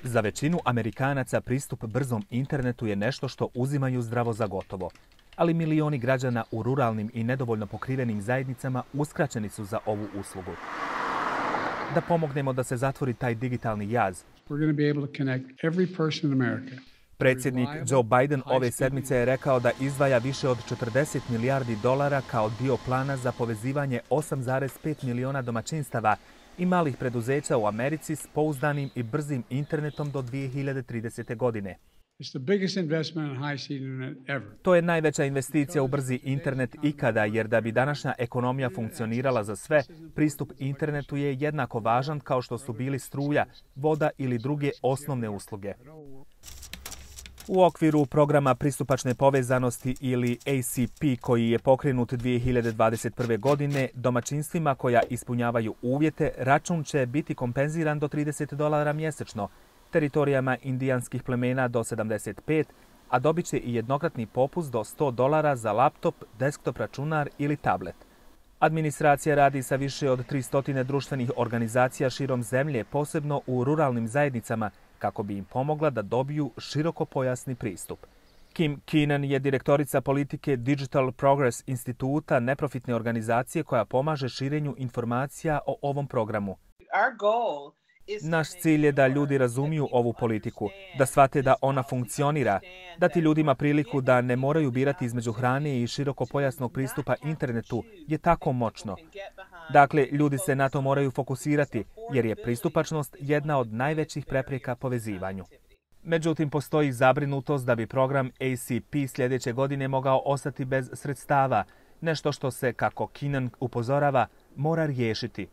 Za većinu Amerikanaca pristup brzom internetu je nešto što uzimaju zdravo za gotovo, ali milioni građana u ruralnim i nedovoljno pokrivenim zajednicama uskraćeni su za ovu uslugu. Da pomognemo da se zatvori taj digitalni jaz, predsjednik Joe Biden ove sedmice je rekao da izdvaja više od 40 milijardi dolara kao dio plana za povezivanje 8,5 miliona domaćinstava i malih preduzeća u Americi s pouzdanim i brzim internetom do 2030. godine. To je najveća investicija u brzi internet ikada, jer da bi današnja ekonomija funkcionirala za sve, pristup internetu je jednako važan kao što su bili struja, voda ili druge osnovne usluge. U okviru programa pristupačne povezanosti ili ACP koji je pokrenut 2021. godine, domaćinstvima koja ispunjavaju uvjete, račun će biti kompenziran do $30 mjesečno, teritorijama indijanskih plemena do 75, a dobit će i jednokratni popust do $100 za laptop, desktop računar ili tablet. Administracija radi sa više od 300 društvenih organizacija širom zemlje, posebno u ruralnim zajednicama, kako bi im pomogla da dobiju širokopojasni pristup. Kim Keenan je direktorica politike Digital Progress instituta, neprofitne organizacije koja pomaže širenju informacija o ovom programu. Naš cilj je da ljudi razumiju ovu politiku, da shvate da ona funkcionira, dati ljudima priliku da ne moraju birati između hrane i širokopojasnog pristupa internetu je tako moćno. Dakle, ljudi se na to moraju fokusirati, jer je pristupačnost jedna od najvećih prepreka povezivanju. Međutim, postoji zabrinutost da bi program ACP sljedeće godine mogao ostati bez sredstava, nešto što se, kako Keenan upozorava, mora riješiti.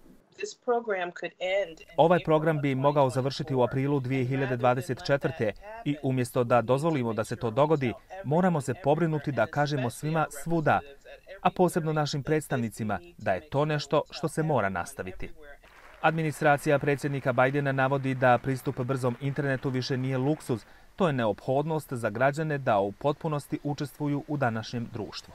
Ovaj program bi mogao završiti u aprilu 2024. i umjesto da dozvolimo da se to dogodi, moramo se pobrinuti da kažemo svima svuda, a posebno našim predstavnicima, da je to nešto što se mora nastaviti. Administracija predsjednika Bidena navodi da pristup brzom internetu više nije luksuz, to je neophodnost za građane da u potpunosti učestvuju u današnjem društvu.